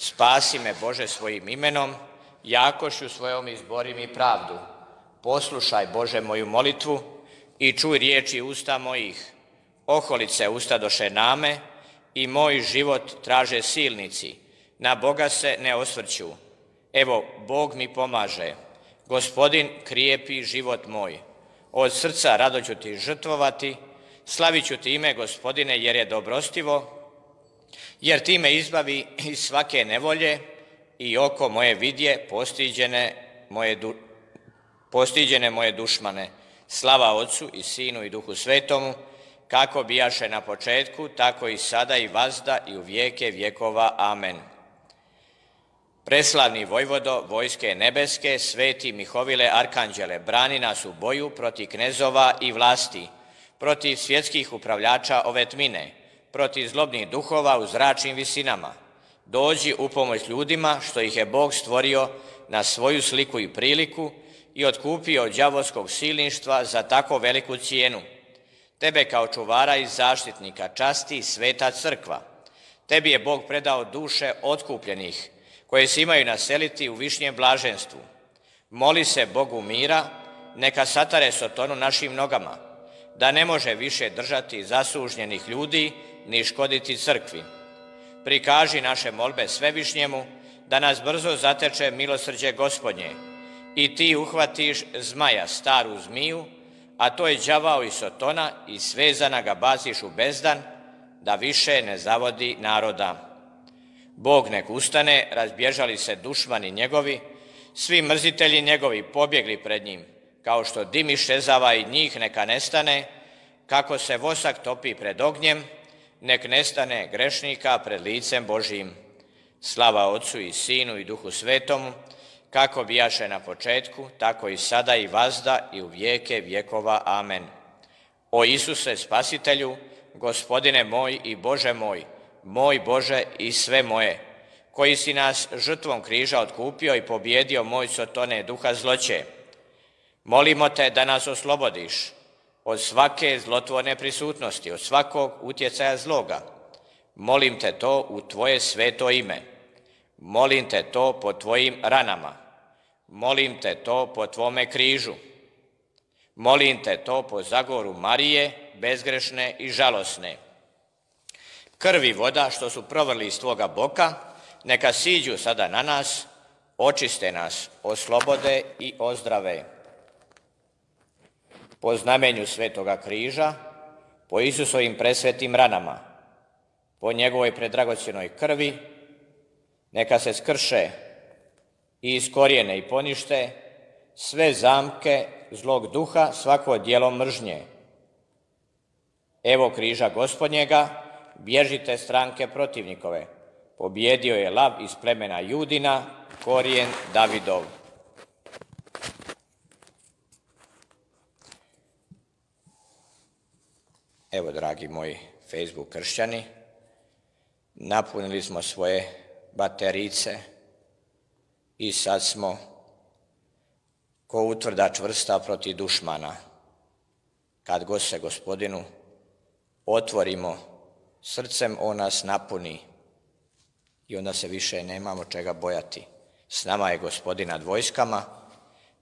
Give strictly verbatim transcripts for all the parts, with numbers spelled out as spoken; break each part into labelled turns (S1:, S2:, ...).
S1: Spasi me, Bože, svojim imenom, jakošću svojom izbori mi pravdu. Poslušaj, Bože, moju molitvu i čuj riječi usta mojih. Oholice ustadoše name i moj život traže silnici. Na Boga se ne osvrću. Evo, Bog mi pomaže. Gospodin krijepi život moj. Od srca rado ću ti žrtvovati, slavit ću ti ime, Gospodine, jer je dobrostivo, jer ti me izbavi iz svake nevolje i oko moje vidje postiđene moje, du, postiđene moje dušmane. Slava Otcu i Sinu i Duhu Svetomu, kako bijaše na početku, tako i sada i vazda i u vijeke vjekova. Amen. Preslavni vojvodo vojske nebeske, sveti Mihovile arkanđele, brani nas u boju protiv knezova i vlasti, protiv svjetskih upravljača ove tmine, protiv zlobnih duhova u zračnim visinama. Dođi u pomoć ljudima što ih je Bog stvorio na svoju sliku i priliku i otkupio od đavolskog silništva za tako veliku cijenu. Tebe kao čuvara i zaštitnika časti sveta crkva. Tebi je Bog predao duše otkupljenih, koje se imaju naseliti u višnjem blaženstvu. Moli se Bogu mira, neka satare Sotonu našim nogama, da ne može više držati zasužnjenih ljudi ni škoditi crkvi. Prikaži naše molbe Svevišnjemu, da nas brzo zateče milosrđe Gospodnje i ti uhvatiš zmaja, staru zmiju, a to je đavao i Sotona, i svezana ga baciš u bezdan, da više ne zavodi naroda. Bog nek ustane, razbježali se dušmani njegovi, svi mrzitelji njegovi pobjegli pred njim, kao što dim iščezava i njih neka nestane, kako se vosak topi pred ognjem, nek nestane grešnika pred licem Božijim. Slava Otcu i Sinu i Duhu Svetomu, kako bijaše na početku, tako i sada i vazda i u vijeke vjekova. Amen. O Isuse Spasitelju, Gospodine moj i Bože moj, moj Bože i sve moje, koji si nas žrtvom križa otkupio i pobjedio moj Sotone duha zloće, molimo te da nas oslobodiš od svake zlotvorne prisutnosti, od svakog utjecaja zloga. Molim te to u tvoje sveto ime. Molim te to po tvojim ranama. Molim te to po tvome križu. Molim te to po zagoru Marije, bezgrešne i žalosne. Krv i voda što su provrli iz tvoga boka, neka siđu sada na nas, očiste nas, oslobode i ozdrave. Po znamenju svetoga križa, po Isusovim presvetim ranama, po njegovoj predragocjenoj krvi, neka se skrše i iskorijene i ponište sve zamke zlog duha, svako djelo mržnje. Evo križa Gospodnjega, bježite stranke protivnikove. Pobjedio je lav iz plemena Judina, korijen Davidov. Evo, dragi moji Facebook kršćani, napunili smo svoje baterice i sad smo ko utvrda čvrsta protiv dušmana. Kad god se Gospodinu otvorimo srcem, on nas napuni i onda se više nemamo čega bojati. S nama je Gospodin nad vojskama,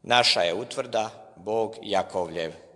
S1: naša je utvrda, Bog Jakovljev.